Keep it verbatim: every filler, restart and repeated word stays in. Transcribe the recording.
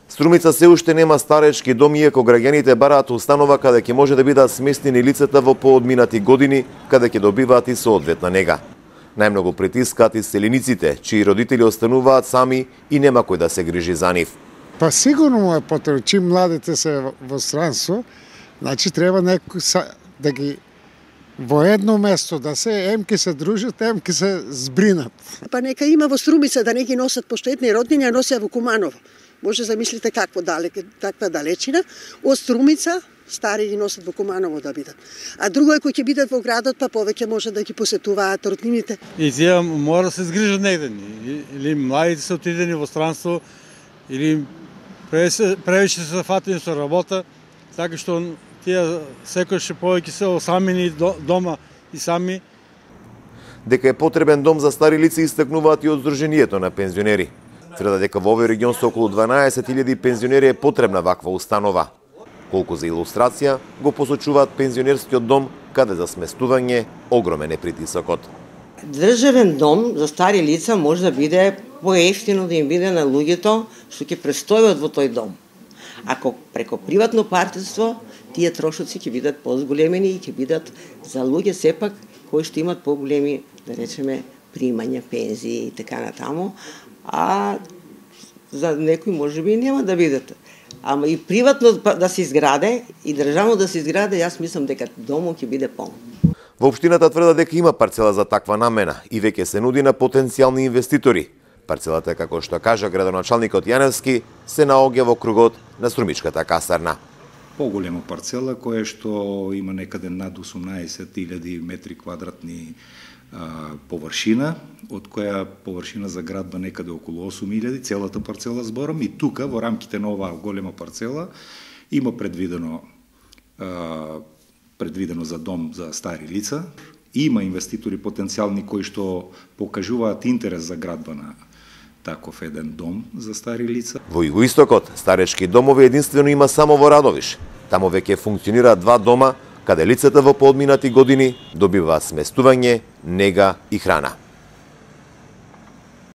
Струмица се уште нема старечки дом, иако граѓаните бараат установа каде ќе може да бидат сместени лицата во поодминати години, каде ќе добиваат и соодветна нега. Најмногу притискаат иселениците, чии родители остануваат сами и нема кој да се грижи за нив. Па сигурно му е потребно, чим младите се во странство, значи треба некој да ги во едно место да се емки се дружат, емки се збринат. Па нека има во Струмица да не ги носат поштетни роднини, а носеа во Куманово. Може замислите какво далеке, таква далечина. Од Струмица стари ги носат во Куманово да бидат. А друго е кои ќе бидат во градот, па повеќе може да ги посетуваат роднините. И тие мора да се згрижат негде. Или младите се отидени во странство, или превише се фатени со работа, така што тие секојаш повеќе се осамени дома и сами. Дека е потребен дом за стари лица истакнуваат и од Сдруженијето на пензионери. Тврдат дека во овој регион со околу дванаесет илјади пензионери е потребна ваква установа. Колку за илустрација го посочуваат пензионерскиот дом, каде за сместување огромен е притисокот. Државен дом за стари лица може да биде поевтино да им биде на луѓето што ќе престојуват во тој дом. Ако преко приватно партнерство, тие трошоци ќе бидат позголемени и ќе бидат за луѓе сепак кои што имат поголеми, да речеме, примања, пензии и така натаму, а за некои можеби нема да бидат. Ама и приватно да се изграде и државно да се изграде, јас мислам дека домот ќе биде полн. Во општината тврдат дека има парцела за таква намена и веќе се нуди на потенцијални инвеститори. Парцелата, како што кажа градоначалникот Јаневски, се наоѓа во кругот на Струмичката касарна. Поголема парцела која што има некаде над осумнаесет илјади метри квадратни а, површина, од која површина за градба некаде околу осум илјади, целата парцела зборам, и тука во рамките на оваа голема парцела има предвидено а, предвидено за дом за стари лица. Има инвеститори потенцијални кои што покажуваат интерес за градба на таков еден дом за стари лица. Во Југоистокот старечки домови единствено има само во Радовиш. Таму веќе функционираат два дома, каде лицата во поодминати години добиваат сместување, нега и храна.